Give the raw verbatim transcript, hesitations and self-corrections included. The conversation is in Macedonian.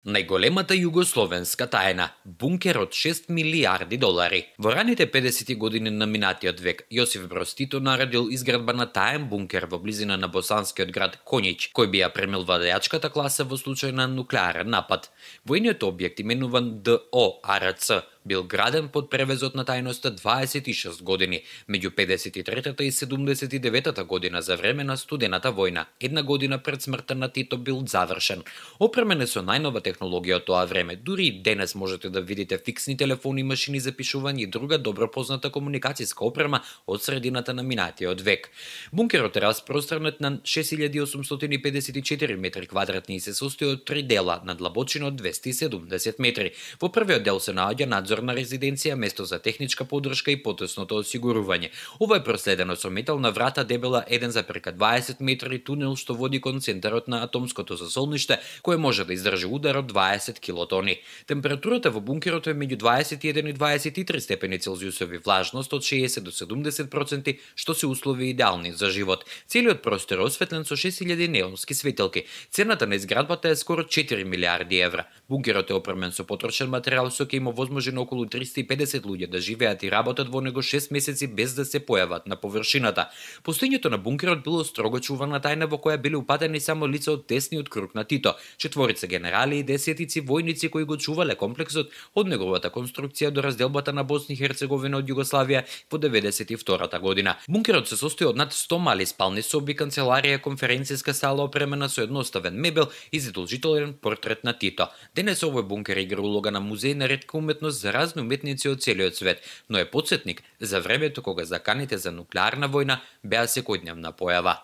Најголемата југословенска тајна – бункер од шест милијарди долари. Во раните педесети години на минатиот век, Јосиф Броз Тито наредил изградба на таен бункер во близина на босанскиот град Коњич, кој би ја премил водајачката класа во случај на нуклеарен напад. Војниот објект, именуван Д О Ар Ц, бил граден под превезот на тајноста дваесет и шест години, меѓу педесет и третата и седумдесет и деветата година за време на студената војна. Една година пред смртта на Тито бил завршен. Опремен е со најнова технологија од тоа време. Дури и денес можете да видите фиксни телефони, машини за пишување и друга добро позната комуникацијска опрема од средината на минатиот век. Бункерот е распространет на шест илјади осумстотини педесет и четири метри квадратни и се состои од три дела на длабочина од двесте и седумдесет метри. Во првиот дел се наоѓа надзорна резиденција, место за техничка поддршка и потесното осигурување. Ова е проследено со метална врата дебела еден запрека дваесет метри, тунел што води кон центарот на атомското засолниште, кое може да издржи удар од дваесет килотони. Температурата во бункерот е меѓу дваесет и еден и дваесет и три степени Целзиусови, влажност од шеесет до седумдесет проценти, што се услови идеални за живот. Целиот простор е осветлен со шест илјади неонски светилки. Цената на изградбата е скоро четири милијарди евра. Бункерот е опремен со потрошен материјал со кој има возможно околу триста и педесет луѓе да живеат и работат во него шест месеци без да се појават на површината. Постоењето на бункерот било строго чувана тајна во која били упатени само лица од тесниот круг на Тито, четворица генерали и десетици војници кои го чувале комплексот од неговата конструкција до разделбата на Босна и Херцеговина од Југославија во деветдесет и втората година. Бункерот се состои од над сто мали спални соби, канцеларија, конференцијска сала опремена со едноставен мебел и задолжителен портрет на Тито. Денес овој бункер игра улога на музеј на ретка уметност за разни уметници од целиот свет, но е потсетник за времето кога заканите за нуклеарна војна беа секојдневна појава.